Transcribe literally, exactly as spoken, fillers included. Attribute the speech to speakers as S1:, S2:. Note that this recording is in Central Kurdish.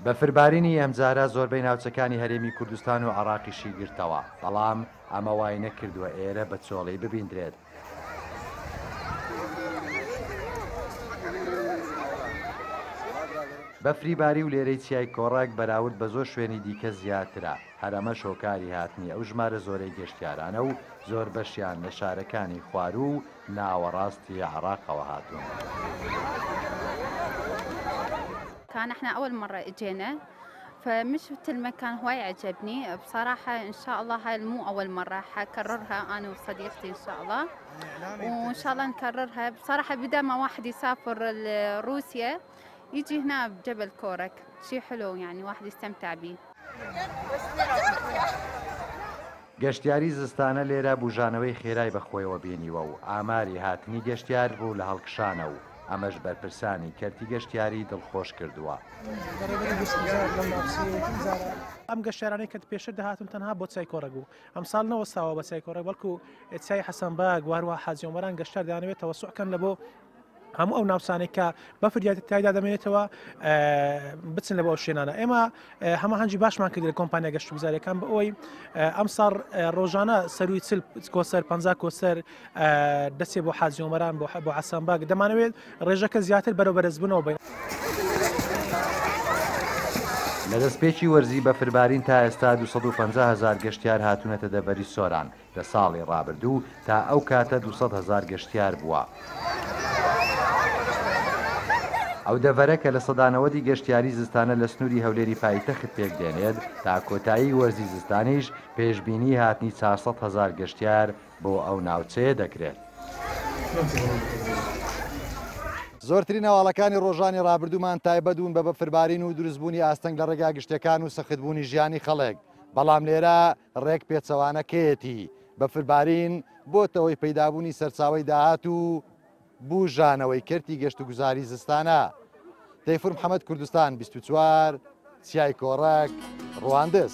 S1: بەفربارینی ئەمجارە زۆربەی ناوچەکانی هەرێمی کوردستان و عێراقیشی گرتەوە، بەڵام ئەمە وای نەکردووە ئێرە بە چۆڵی ببیندرێت. بەفری باری و لێرەی چیای کۆڕەک بەراورد بە زۆر شوێنی دیکە زیاترە، هەر ئەمەش هۆکاری هاتنی ئەو ژمارە زۆرەی گەشتیارانە و زۆر بەشیان لە شارەکانی خواروو و ناوەڕاستی عێراقەوە هاتوون.
S2: كان احنا اول مره اجينا فمن شفت المكان هواي عجبني بصراحه. ان شاء الله هاي مو اول مره، حكررها انا وصديقتي ان شاء الله، وان شاء الله نكررها. بصراحه بدل ما واحد يسافر لروسيا يجي هنا بجبل كورك، شيء حلو يعني واحد يستمتع به.
S1: گەشتیاری زستانە لێرە بژانەوەی خێرای بەخۆیەوە بینیوە و ئاماری هاتنی گەشتیار ڕوو لە هەڵکشانە و ئەمەش بەرپرسانی کەرتی گەشتیاری دڵخۆش کردووە.
S3: ئەم گەشتیارانەی کە پێشتر دەهاتن تەنها بۆ چای کۆڕەک بوو، ئەمساڵ نەوەستاوە بە چای کۆڕەک، بەڵکو چای حەسەن باگ و هەروەها حاجی عومەران گەشتیار دەیانەوێت تەوەسوع کەن لە بۆ هەموو ئەو ناوچانەی کە بەفر تایدا دەمێنێتەوە بچن لە بۆ ئەو شوێنانە. ئێمە هەماهەنگی باشمان کرد لە کۆمپانیا گەشتوگوزاریەکان بە ئەوەی ئەمساڵ ڕۆژانە سەروی چل کۆسەر پەنجا کۆسەر دەچێ بۆ حاجی عومەران بۆ حەسەن باگ، دەمانەوێت ڕێژەکە زیاتر بەرەو بەرزبوونەوە بین.
S1: لە دەستپێکی وەرزی بەفربارین تا ئێستا دوو سەد و پەنجا هەزار گەشتیار هاتوونەتە دەڤەری سۆران. لە ساڵی ڕابردوو تا ئەو کاتە دوو سەد هەزار گەشتیار بووە. ئەو دەڤەرە کە لە سەدانەوەدی گەشتیاری زستانە لە سنووری هەولێری پایتەخت پێک دێنێت، تا کۆتایی وەرزی زستانیش پێشبینی هاتنی چوار سەد هەزار گەشتیار بۆ ئەو ناوچەیە دەکرێت. زۆرترین هەواڵەکانی ڕۆژانی ڕابردوومان تایبەت بوون بە بەفربارین و دروستبوونی ئاستەنگ لە ڕێگا گشتەکان و سەختبوونی ژیانی خەڵک، بەڵام لێرە ڕێک پێچەوانەکەیەتی. بەفربارین بۆتەوەی پەیدابوونی سەرچاوەی داهات و بوژانەوەی کەرتی گەشتوگوزاری زستانە. تەیفور محەممەد، کوردستان بیست و چوار، چیای کۆڕەک، ڕواندز.